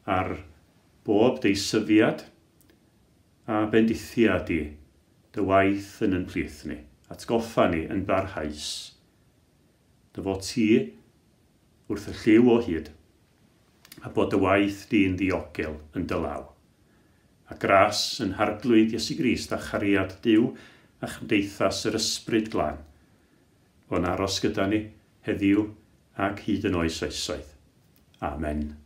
ar bob deisyfiad a bendithiad di dy waith yn yn plith ni. Atgoffa ni yn barhaus. Dy fod ti wrth y llyw o hyd a bod dy waith di'n ddiogel yn dy law. A gras yn Harglwydd Iesu Grist a chariad Duw a chymdeithas yr Ysbryd Glân fo'n aros gyda ni heddiw ac hyd yn oes oesoedd. Amen.